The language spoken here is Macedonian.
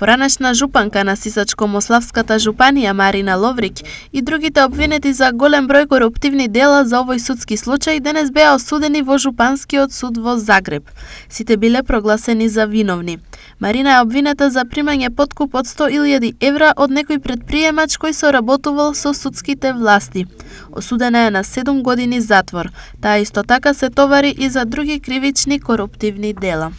Поранешна жупанка на Сисачко-Мославската жупанија Марина Ловрик и другите обвинети за голем број коруптивни дела за овој судски случај денес беа осудени во Жупанскиот суд во Загреб. Сите биле прогласени за виновни. Марина е обвинета за примање подкуп од 100.000 евра од некој претприемач кој соработувал со судските власти. Осудена е на 7 години затвор. Таа исто така се товари и за други кривични коруптивни дела.